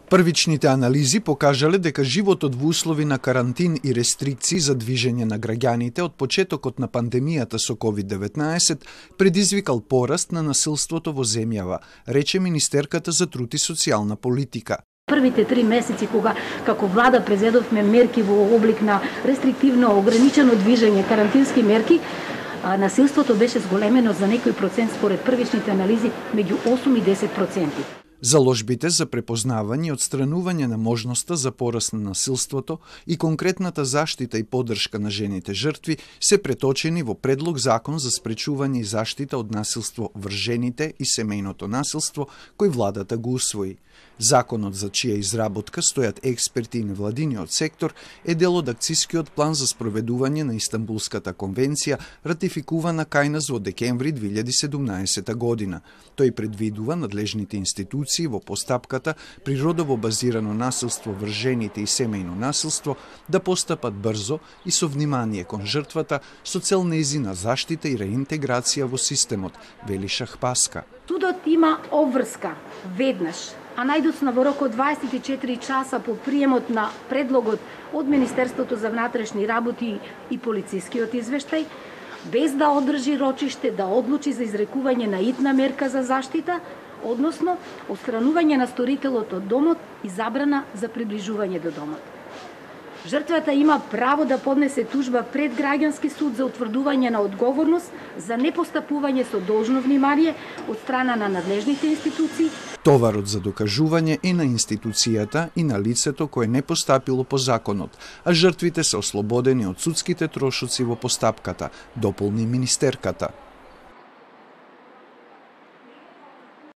Првичните анализи покажале дека животот во услови на карантин и рестрикции за движење на граѓаните од почетокот на пандемијата со COVID-19 предизвикал пораст на насилството во земјава, рече министерката за труд и социјална политика. Првите 3 месеци кога како влада презедовме мерки во облик на рестриктивно ограничено движење, карантински мерки, насилството беше зголемено за некој процент според првичните анализи меѓу 8 и 10%. Заложбите за препознавање и отстранување на можноста за пораст на насилството и конкретната заштита и поддршка на жените жртви се преточени во предлог закон за спречување и заштита од насилство врз жените и семејното насилство кој владата го усвои. Законот за чија изработка стојат експерти и невладиниот сектор е дел од акцискиот план за спроведување на Истанбулската конвенција, ратификувана кај нас во декември 2017 година. Тој предвидува надлежните институции во постапката при родово базирано насилство врз жените и семејно насилство да постапат брзо и со внимание кон жртвата со цел нејзина заштита и реинтеграција во системот, вели Шахпаска. Судот има обврска веднаш, а најдоцна во рок од 24 часа по приемот на предлогот од Министерството за внатрешни работи и полицискиот извештај, без да одржи рочиште да одлучи за изрекување на итна мерка за заштита, односно отстранување на сторителот од домот и забрана за приближување до домот. Жртвата има право да поднесе тужба пред граѓански суд за утврдување на одговорност за непостапување со должно внимание од страна на надлежните институции. Товарот за докажување е на институцијата и на лицето кое не постапило по законот, а жртвите се ослободени од судските трошоци во постапката, дополни министерката.